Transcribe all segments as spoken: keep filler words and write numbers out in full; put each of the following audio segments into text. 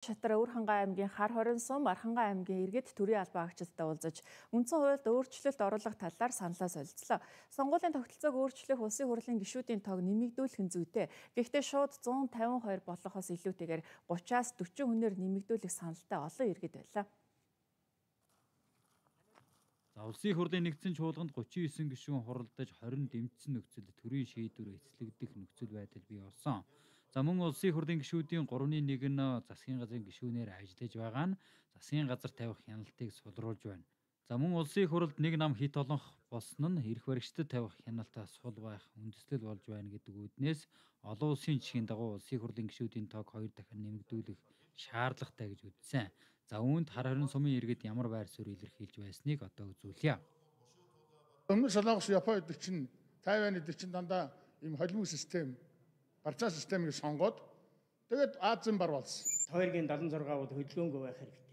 Шатар Өвөрхангай аймгийн Хар хорин сум, Архангай аймгийн Иргэд төрийн албан агчидтай уулзаж үндсэн хуульд өөрчлөлт оруулах талаар саналаа солилцлоо. Сонгуулийн тогтолцоог өөрчлөх улсын хурлын гишүүдийн тоог нэмэгдүүлэх нь зүйтэй. Гэхдээ шууд зуун тавин хоёр болохоос илүүтэйгээр гучаас дөрвөн хүнээр нэмэгдүүлэх саналтай олон иргэд байлаа. За улсын хурлын нэгдсэн чуулганд гучин девять гишүүн хуралдаж хорин дэмжсэн нөхцөлд төрийн шийдвэр эцэлэгдэх нөхцөл байдал бий болсон. За мөн улсын хурлын гишүүдийн гуравны нэг нь засгийн газрын гишүүнээр ажиллаж байгаа нь засгийн газар тавих хяналтыг сулруулж байна. За мөн улсын хурлд нэг нам хит олонх болсон нь эрх баригчдад тавих хяналтаа сул байх үндэслэл болж байна гэдэг үүднээс олон улсын жишгийн дагуу улсын хурлын гишүүдийн тоог хоёр дахин нэмэгдүүлэх шаардлагатай гэж үзсэн. За үүнд Хар хорин сумын иргэд ямар байр суурь илэрхийлж байсныг одоо үзүүлье. Өмнө Солонгос, Япон эдгээр чинь Тайвань эдгээр чинь дандаа ийм холимог систем, барцаа системийг сонгоод тэгээд Азийн бар болсон. Хоёргийн седемдесет и шесть бол хөдөлгөөнгөө байх хэрэгтэй.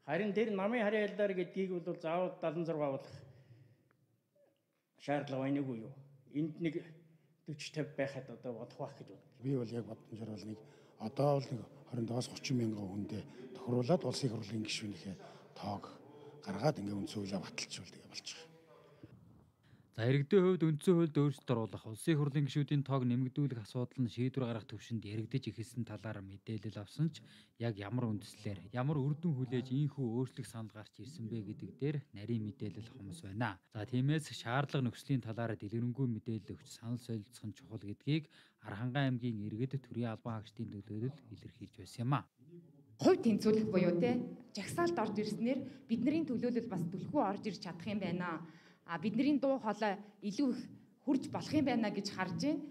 Харин тэр намын харийн алдар гэдгийг бол заавал седемдесет и шесть болох шаардлага байна уу юу? Энд нэг forty fifty байхад одоо бодох байх гэж байна. Би бол яг бодомжоор бол нэг одоо бол нэг twenty-five thirty мянган хүндээ тохируулаад улсын хурлын гишүүнийхээ тоог гаргаад ингээ үндсэн хуулиа баталчихвал тэгээ болчих. За иргэдийн хувьд үндсэн хуульд өөрчлөлт оруулах, улсын хурлын гишүүдийн тоог нэмэгдүүлэх асуудал нь шийдвэр гаргах төвшөнд яригдж эхэлсэн талаар мэдээлэл авсан ч яг ямар үндслээр, ямар үр дүн хүлээж ийхүү өөрчлөх санал гарч ирсэн бэ гэдэг дээр нарийн мэдээлэл хомс байна. За тиймээс шаардлага нөхцөлийн талаар дэлгэрэнгүй мэдээлэл өгч санал солилцох нь чухал гэдгийг Архангай аймгийн иргэд төрийн албан хаагчдын төлөөлөл илэрхийлж байсан юм а. Хувь тэнцвүүлэх буюу те жагсаалт орж ирснээр бидний төлөөлөл бас түлхүү орж ирж чадах юм байна. А бидний дуу хоолой илүү их хурж болох юм байна гэж харж байна.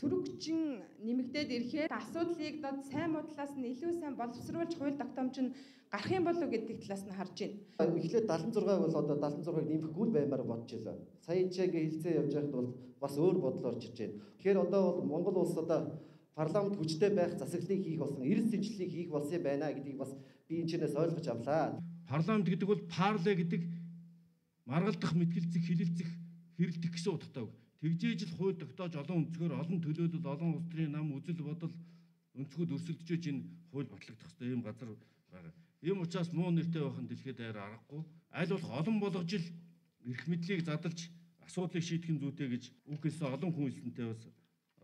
Сүрэгчин нэмэгдээд ирэхээр асуудлыг дод сайн муудлаас нь илүү сайн боловсруулж хууль тогтоомж нь гарах юм болов гэдэг талаас нь харж байна. Эхлээд седемдесет и шесть бол одоо седемдесет и шесть-ыг нэмэхгүй л баймаар бодож байлаа. Сая энэ чигээ хилцээ явж байхад бол бас өөр бодол орж ирж байна. Тэгэхээр одоо бол Монгол улс одоо парламент хүчтэй байх засаглалыг хийх болсон, эрс зэнчлэлийг хийх болсон юм байна гэдгийг бас би энэ чинээс ойлгож авлаа. Парламент гэдэг бол парле гэдэг маргалдах, мэтгэлцэх, хилэлцэх, хэрэлдэх гэсэн утгатай. Тэгжээж л хууль тогтоож олон өнцгөр, олон төлөөлөл, олон улс төрийн нам, үзэл бодол өнцгүүд өрсөлдөж энэ хууль батлагдах хэрэгтэй юм газар байгаа. Ийм учраас муу нэртэй байх нь дэлхийд даяар аргагүй. Аль болох олон болгож ил эрх мэдлийг задалж асуудлыг шийдэх нь зүйтэй гэж үг хэлсэн олон хүн хэлсэнтэй бас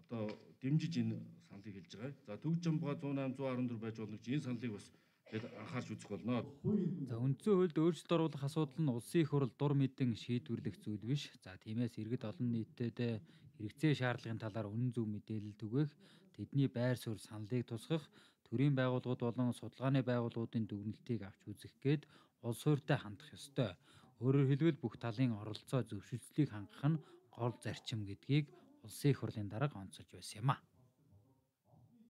одоо дэмжиж энэ саналыг хэлж байгаа. За Төвд Жамбага one eight one four байж болно гэж энэ саналыг бас анхаарч үзэх болно. За үндсэн хуульд өөрчлөлт оруулах асуудал нь улсын хурл дур мэдэн шийдвэрлэх зүйл биш. За тиймээс иргэд олон нийтэд хэрэгцээ шаардлагын талаар үнэн зөв мэдээлэл түгээх, тэдний байр суурь саналыг тусгах, төрийн байгууллагууд болон судалгааны байгууллагуудын дүгнэлтийг авч үзэх гээд улс хуурьтай хандах ёстой. Өөрөөр хэлбэл бүх талын оролцоо зөвшөөрлийг хангах нь гол зарчим гэдгийг улсын хурлын дарга онцолж байсан юм а.